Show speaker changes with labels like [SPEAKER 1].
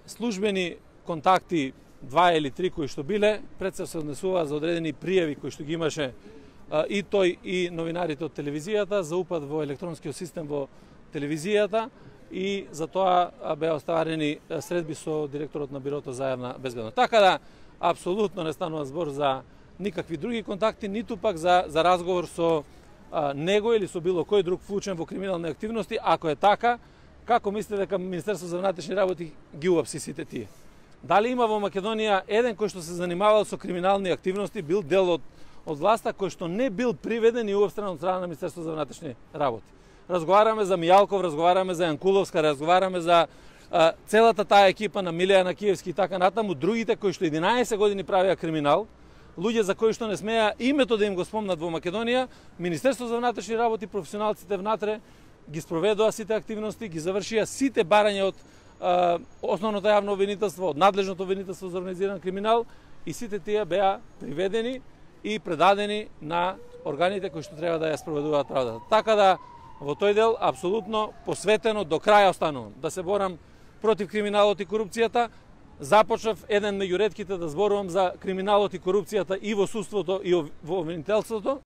[SPEAKER 1] службени контакти, 2 или 3 кои што биле, пред се однесува за одредени пријави кои што ги имаше и тој и новинарите од телевизијата за упад во електронскиот систем во телевизијата и за тоа беа оставарени средби со директорот на Бирото за јавна безбедност. Така да, апсолутно не станува збор за никакви други контакти, ниту пак за разговор со него или со било кој друг вклучен во криминални активности. Ако е така, како мислите дека Министерството за внатрешни работи ги уапси сите тие? Дали има во Македонија еден кој што се занимавал со криминални активности, бил дел од власта, кој што не бил приведен и уапстрен од страна на Министерството за внатрешни работи? Разговараме за Мијалков, разговараме за Јанкуловска, разговараме за целата таа екипа на Милијана Киевски и така натаму, другите кои што 11 години правеа криминал, луѓе за кои што не смеа името да им го спомнат во Македонија, Министерството за внатрешни работи, професионалците внатре ги спроведоа сите активности, ги завршија сите барања од основното јавно обвинителство, од надлежното обвинителство за организиран криминал и сите тие беа приведени и предадени на органите кои што треба да ја спроведуваат правдата. Така да во тој дел апсолутно посветено до крај останувам да се борам против криминалот и корупцијата. Започнав еден меѓу ретките да зборувам за криминалот и корупцијата и во судството и во обвинителството.